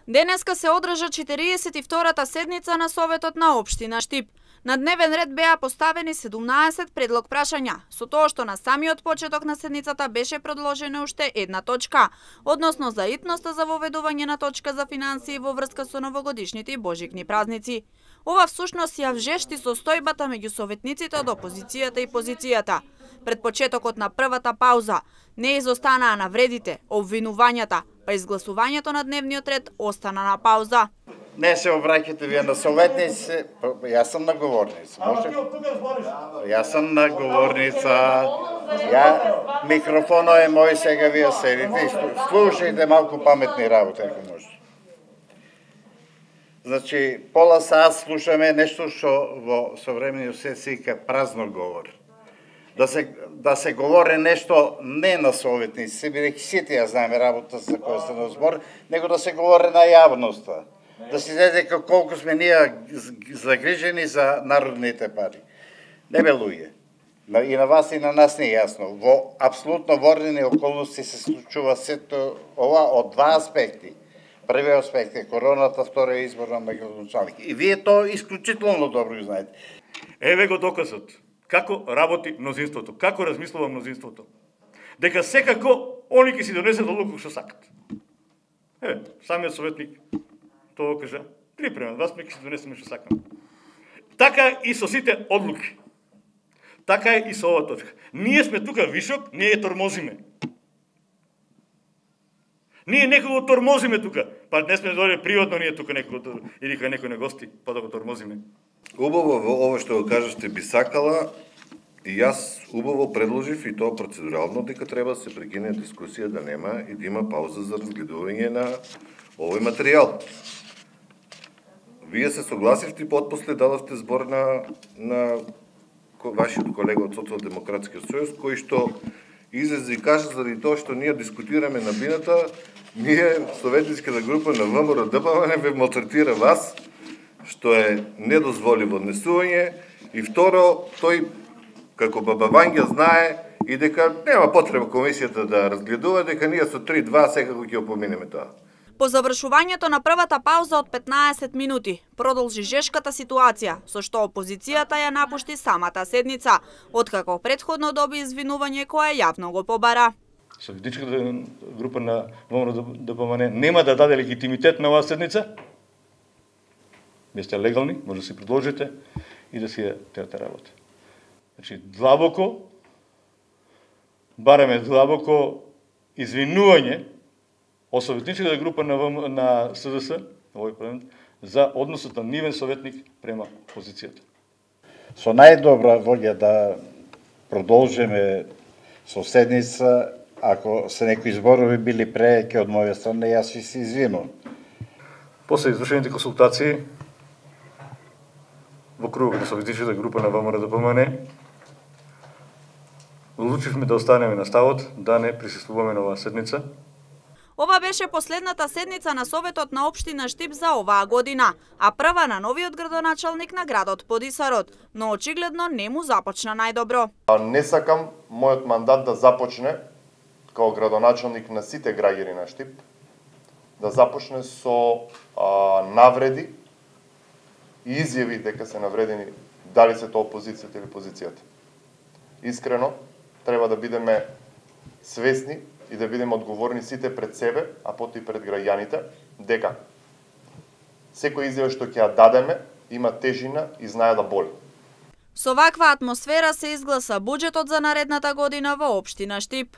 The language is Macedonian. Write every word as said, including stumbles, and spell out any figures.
Денеска се одржа четириесет и втората седница на Советот на општина Штип. На дневен ред беа поставени седумнаесет предлог прашања, со тоа што на самиот почеток на седницата беше предложена уште една точка, односно за итноста за воведување на точка за финансии во врска со новогодишните и божикни празници. Ова всушност ја вжешти состојбата меѓу советниците од опозицијата и позицијата. Пред почетокот на првата пауза не изостанаа навредите, обвинувањата, па изгласувањето на дневниот ред остана на пауза. Не се обраќате вие на советници, јас сум на говорница. Може? Јас сум на говорница. Ја микрофонот е мој, сега вие седите и слушајте малку паметни работи, ако може. Значи, пола саат слушаме нешто што во современиот свет се вика празно говор. Да се да се говори нешто не на советници, бидејќи сите ја знаеме работа за која се на збор, него да се говори на јавноста. Да се знаете колку сме ние загрижени за народните пари. Не бе луѓе. И на вас и на нас не е јасно. Во апсолутно ворнени околности се случува сето ова од два аспекти. Првиот аспект е короната, вториот избор на градоначалник. И вие тоа исклучително добро го знаете. Еве го доказот. Како работи мнозинството, како размислува мнозинството. Дека секако они ќе си донесат одлука што сакат. Еве, самиот советник тоа кажа, припремат вас, ми ќе си донесеме што сакаме. Така и со сите одлуки. Така и со ова точка. Ние сме тука вишок, ние ја тормозиме. Ние некого тормозиме тука. Па не сме дојде приватно ние тука некого или кај некој на гости, па да го тормозиме. Убаво во ова што го кажете би сакала, и јас убаво предложив и тоа процедурално дека треба да се прекине дискусија, да нема и да има пауза за разгледување на овој материјал. Вие се согласивте и потпосле дадовте збор на, на вашиот колега од Социјалдемократскиот сојуз, кој што излезе и кажа заради тоа што ние дискутираме на бината, ние, советницката група на ВМРО ДПМН, ве малтретира вас, што е недозволиво однесување, и второ, тој, како Баба Вања, знае и дека нема потреба комисијата да разгледува, дека ние со три два секако ќе опоминеме тоа. По завршувањето на првата пауза од петнаесет минути, продолжи жешката ситуација, со што опозицијата ја напушти самата седница, откако претходно доби извинување кое јавно го побара. Советничката група на ВМРО ДПМН нема да даде легитимитет на оваа седница. Вие сте легални, може да си продолжите и да си ја теате работа. Значи, длабоко, бараме длабоко извинување од советничката група на, на СДС, овој парламент, за односот на нивен советник према опозицијата. Со најдобра волја да продолжиме со седница, ако се некои зборови били преки од моја страна, јас ви се извинувам. После извршените консултации во кругот на советничката група на ВМРО ДПМН, одлучивме да останеме на ставот да не присуствуваме на оваа седница. Ова беше последната седница на Советот на општина Штип за оваа година, а прва на новиот градоначалник на градот Подисарот, но очигледно не му започна најдобро. Не сакам мојот мандат да започне као градоначалник на сите граѓани на Штип, да започне со а, навреди и изјави дека се навредени дали се тоа опозицијата или позицијата. Искрено, треба да бидеме свесни и да бидеме одговорни сите пред себе, а потоа и пред граѓаните, дека секој изјава што ќе ја дадеме има тежина и знае да боли. Со ваква атмосфера се изгласа буџетот за наредната година во општина Штип.